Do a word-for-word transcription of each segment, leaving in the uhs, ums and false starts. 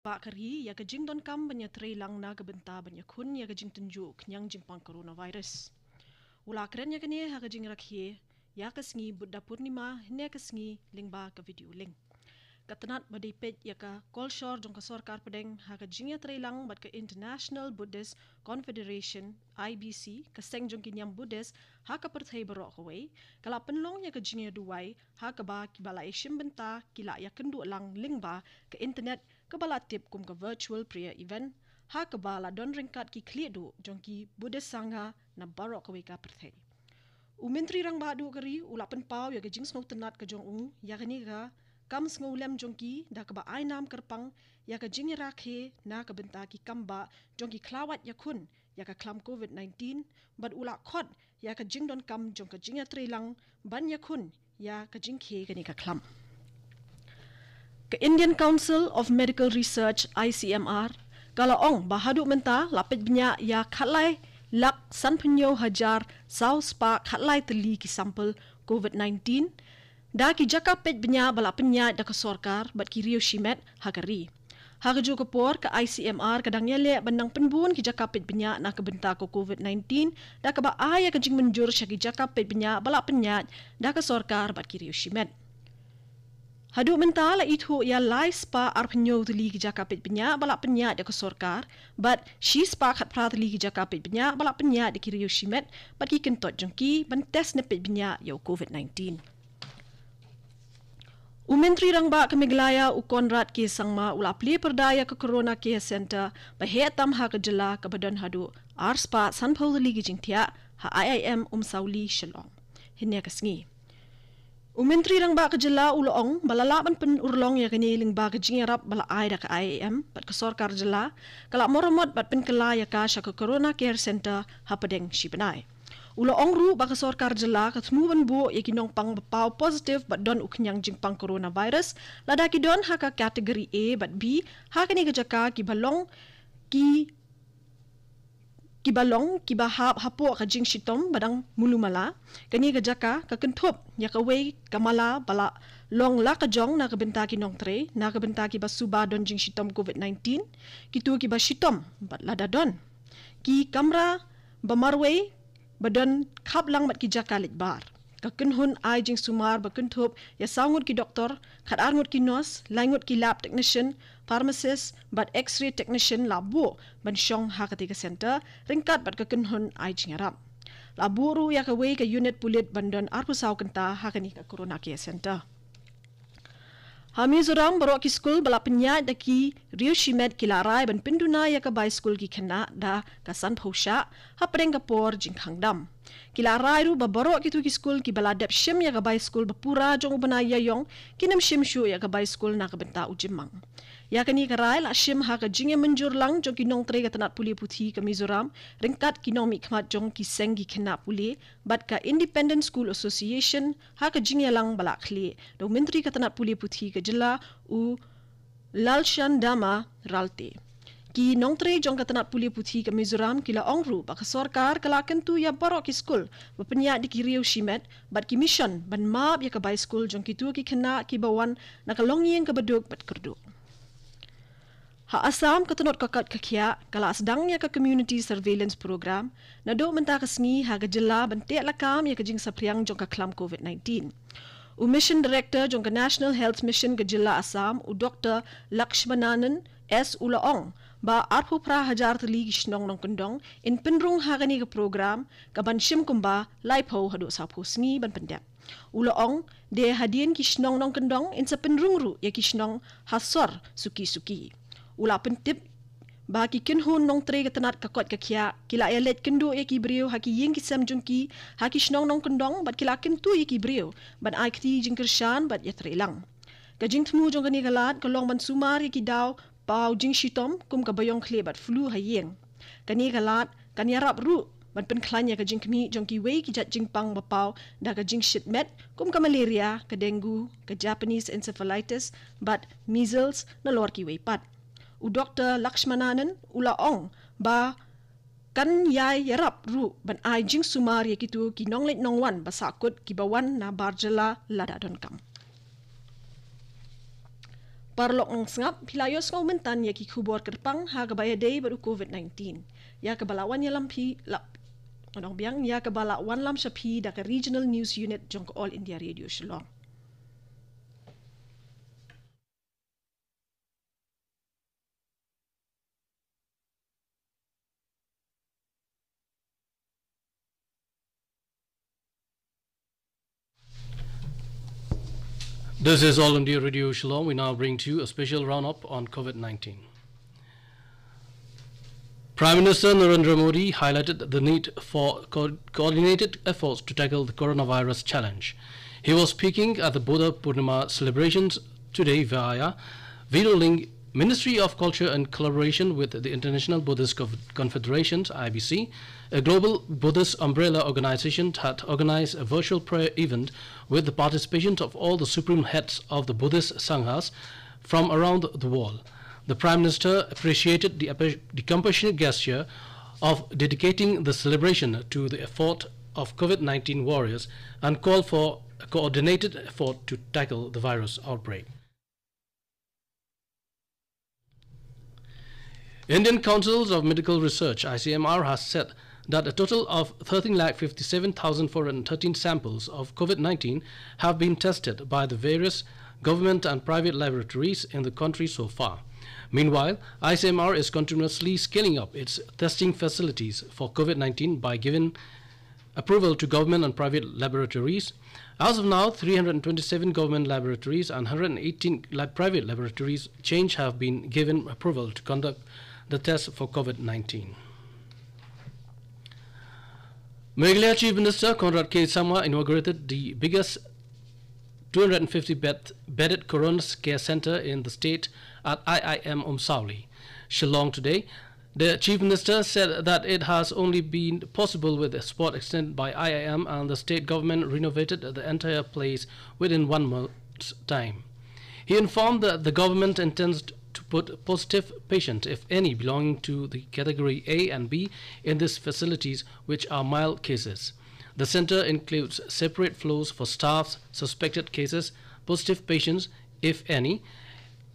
Ba ka ri ïa ka jingdonkam ban ïatreilang na ka bynta ban ïakhun ïa ka jingtynjuh khñiang jingpang coronavirus. U la kren ïa kane ha ka jingrakhe ïa ka sngi Buddha Purnima ne ka sngi lyngba ka video link. Ka tnat ba dei peit ïa ka kolshor jong ka sorkar pdeng ha ka jingïatreilang bad ka International Buddhist Confederation, I B C, ka seng jong ki niam Buddhist ha ka pyrthei baroh kawei, ka la pynlong ïa ka jingïaduwai ha kaba kiba la ïashim bynta ki la ïakynduh lang lyngba ka internet, kaba la tip kum ka virtual prayer event, ha kaba la don ryngkat ki khlieh duh jong ki Buddhist sangha na baroh kawei ka pyrthei. U Myntri Rangbah Duh ka ri u la pynpaw ïa ka jingsngewtynnat ka jong u ïa kane ka kam sngewlem jong ki da kaba ai nam kyrpang ïa ka jingïarakhe na ka bynta ki kam ba jong ki khlawait ïakhun ïa ka khlam covid nineteen, bad u la khot ïa ka jingdonkam jong ka jingïatreilang ban ïakhun ïa ka jingkhie kane ka khlam. Ka Indian Council of Medical Research, I C M R, ka la ong ba haduh mynta la peit bniah ïa khatlai lak sanphew hynñiew hajar saw spah khatlai tylli ki sample covid nineteen da ki jaka peit bniah ba la pynïaid da ka sorkar bad ki riew shimet ha ka ri. Ha kajuh ka por, ka I C M R ka dang ïaleh ban nang pynbun ki jaka peit bniah na ka bynta ka covid nineteen da kaba ai ïa ka jingmynjur sha ki jaka peit bniah ba la pynïaid da ka sorkar bad ki riew shimet. Haduh mynta la ithuh ïa lai spah arphew hynñiew tylli ki jaka peit bniah ba la pynïaid da ka sorkar bad shi spah khatphra tylli ki jaka peit bniah ba la pynïaid da ki riew shimet bad ki kyntoit jong ki ban test ne peit bniah ïa u covid nineteen. U Myntri Rangbah ka Meghalaya u Conrad K Sangma u la plie pyrda ïa ka Corona Care Centre ba heh tam ha ka jylla kaba don haduh ar spah sanphew tylli ki jingthiah ha I I M Umsawli Shillong hynne ka sngi. U Myntri Rangbah ka jylla u la ong ba la lah ban pynurlong ïa kane lyngba ka jingïarap ba la ai da ka I I M bad ka sorkar jylla ka la maramot bad pynkylla ïa ka sha ka Corona Care Centre hapdeng shi bnai. U la ong ruh ba ka sorkar jylla ka thmu ban buh ïa ki nongpang ba paw positive bad don u khñiang jingpang coronavirus lada ki don ha ka category A bad B ha kane ka jaka kiba long ki kiba long kiba hap hapoh ka jingshitom ba dang mulumala. Kane ka jaka ka kynthup ïa kawei ka mala ba la long la ka jong na ka bynta ki nongtrei na ka bynta kiba suba don jingshitom covid nineteen, kito kiba shitom bad lada don ki kamra ba marwei ba don khaplang bad ki jaka leit bar. Ka kynhun ai jingsumar ba kynthup ïa saw ngut ki doktor, khatar ngut ki nurse, lai ngut ki lab technician, pharmacist bad x-ray technician la buh ban shong ha katei ka centre ryngkat bad ka kynhun ai jingïarap. La buh ruh ïa kawei ka unit pulit ban don arphew saw kynta ha kane ka Corona Care Centre. Ha Mizoram, baroh ki skul ba la pynïaid da ki riew shimet ki la rai ban pynduna ïa ka bai skul ki khynnah da ka sanphew shah hapdeng ka por jingkhang dam. Ki la rai ruh ba baroh kito ki skul kiba la dep shim ïa ka bai skul ba pura jong u bnai Ïaïong kin ym shim shuh ïa ka bai skul na ka bynta u jymmang. Ïa kane ka rai la shim ha ka jingïamynjur lang jong ki nongtrei ka tnat pule puthi ka Mizoram ryngkat ki nongmihkhmat jong ki seng ki khynnah pule bad ka Independent School Association ha ka jingïalang ba la khlieh da u Myntri ka tnat pule puthi ka jylla u Lalshandama Ralte. Ki nongtrei jong ka tnat pule puthi ka Mizoram ki la ong ruh ba ka sorkar ka la kyntu ïa baroh ki skul ba pynïaid da ki riew shimet bad ki mission ban map ïa ka bai skul jong kito ki khynnah kiba wan na ka longïing kaba duk bad kyrduh. Ha Assam, ka tnat ka koit ka khiah ka la sdang ïa ka Community Surveillance Program. Naduh mynta ka sngi ha ka jylla ban teh lakam ïa ka jingsaphriang jong ka khlam covid nineteen. U Mission Director jong ka National Health Mission ka jylla Assam, u Doctor Lakshmananan S, u la ong ba arphew phra hajar tylli ki shnong nongkyndong yn pynrung ha kane ka program, ka ban shim kumba laiphew haduh sawphew sngi ban pyndep. U la ong, de hadien ki shnong nongkyndong yn sa pynrung ruh ïa ki shnong ha sor suki suki. U la pyntip ba ki kynhun nongtrei ka tnat ka koit ka khiah ki la ïaleit kynduh ïa ki briew ha ki ïing ki sem jong ki ha ki shnong nongkyndong bad ki la kyntu ïa ki briew ban ai kti jingkyrshan bad ïatreilang. Ka jingthmu jong kane ka lad ka long ban sumar ïa ki daw paw jingshitom kum ka baïong khlieh bad flu ha ïing. Kane ka lad kan ïarap ruh ban pynkhlaiñ ïa ka jingkhmih jong kiwei ki jait jingpang ba paw da ka jingshit met kum ka malaria, ka dengue, ka Japanese encephalitis bad measles, nalor kiwei pat. U Doctor Lakshmananan u la ong ba kan ïai ïarap ruh ban ai jingsumar ïa kito ki nongleit nongwan ba sahkut kiba wan na bar jylla lada donkam. Paralok nongsngap, phi la ïohsngew mynta ïa ki khubor kyrpang ha kaba ïadei bad u COVID nineteen. Ïa kaba la wan ïalam phi la, ngan ong biang, ïa kaba la wanlam sha phi da ka Regional News Unit jong ka All India Radio Shillong. This is All India Radio Shillong. We now bring to you a special roundup on COVID nineteen. Prime Minister Narendra Modi highlighted the need for co-, coordinated efforts to tackle the coronavirus challenge. He was speaking at the Buddha Purnima celebrations today via video link. Ministry of Culture, in collaboration with the International Buddhist Conf-, Confederation, I B C, a global Buddhist umbrella organization, had organized a virtual prayer event with the participation of all the supreme heads of the Buddhist Sanghas from around the world. The Prime Minister appreciated the, the compassionate gesture of dedicating the celebration to the effort of COVID nineteen warriors and called for a coordinated effort to tackle the virus outbreak. Indian Councils of Medical Research, I C M R, has said that a total of thirteen lakh fifty-seven thousand four hundred thirteen samples of COVID nineteen have been tested by the various government and private laboratories in the country so far. Meanwhile, I C M R is continuously scaling up its testing facilities for COVID nineteen by giving approval to government and private laboratories. As of now, three hundred twenty-seven government laboratories and one hundred eighteen lab-, private laboratories change have been given approval to conduct the test for COVID nineteen. Meghalaya Chief Minister Conrad K Sangma inaugurated the biggest two hundred fifty bed, bedded Corona Care Center in the state at I I M Umsawli, Shillong today. The Chief Minister said that it has only been possible with a support extended by I I M, and the state government renovated the entire place within one month's time. He informed that the government intends to put positive patient, if any, belonging to the category A and B in these facilities, which are mild cases. The center includes separate floors for staffs, suspected cases, positive patients, if any.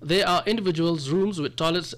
There are individuals' rooms with toilets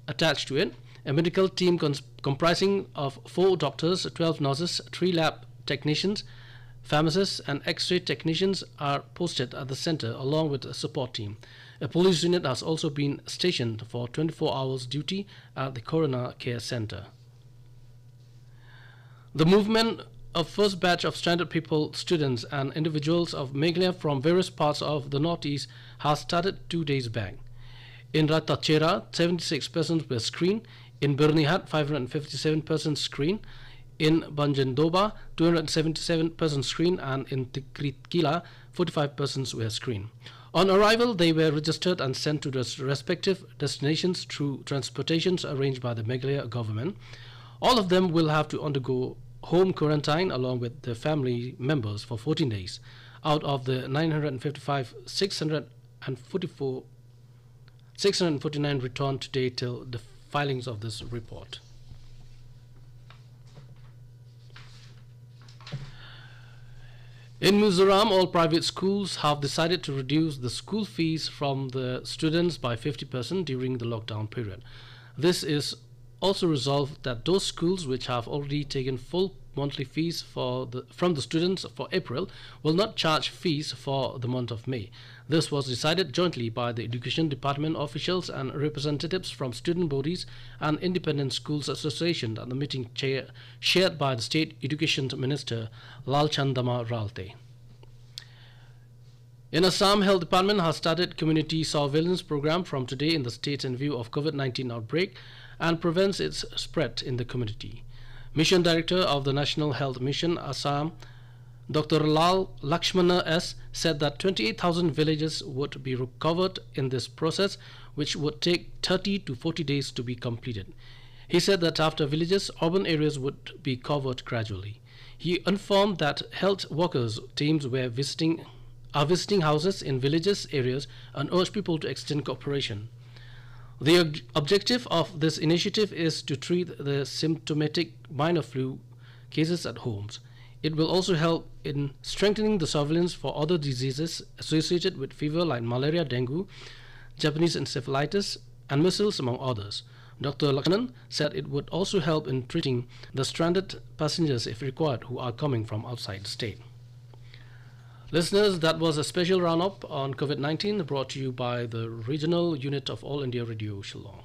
attached to it. A medical team cons-, comprising of four doctors, twelve nurses, three lab technicians, pharmacists, and X-ray technicians are posted at the center along with a support team. A police unit has also been stationed for twenty-four hours duty at the Corona Care Center. The movement of first batch of stranded people, students and individuals of Meghalaya from various parts of the Northeast has started two days back. In Raitakchera, seventy-six persons were screened. In Byrnihat, five hundred fifty-seven persons screened. In Banjendobba, two hundred seventy-seven persons screened, and in Tikritkila, forty-five persons were screened. On arrival, they were registered and sent to their respective destinations through transportations arranged by the Meghalaya government. All of them will have to undergo home quarantine along with their family members for fourteen days. Out of the nine hundred fifty-five, six hundred forty-four, six hundred forty-nine returned today till the filings of this report. In Mizoram, all private schools have decided to reduce the school fees from the students by fifty percent during the lockdown period. This is also resolved that those schools which have already taken full monthly fees for the, from the students for April will not charge fees for the month of May. This was decided jointly by the Education Department officials and representatives from student bodies and Independent Schools Association at the meeting chair, chaired by the State Education Minister Lalchandama Ralte. In Assam, Health Department has started community surveillance program from today in the state in view of COVID nineteen outbreak and prevents its spread in the community. Mission Director of the National Health Mission Assam, Doctor Lal Lakshmana S, said that twenty-eight thousand villages would be covered in this process, which would take thirty to forty days to be completed. He said that after villages, urban areas would be covered gradually. He informed that health workers teams were visiting, are visiting houses in villages areas and urged people to extend cooperation. The ob-, objective of this initiative is to treat the symptomatic minor flu cases at homes. It will also help in strengthening the surveillance for other diseases associated with fever like malaria, dengue, Japanese encephalitis, and measles, among others. Doctor Lakshanan said it would also help in treating the stranded passengers, if required, who are coming from outside the state. Listeners, that was a special roundup on COVID nineteen brought to you by the Regional Unit of All India Radio Shillong.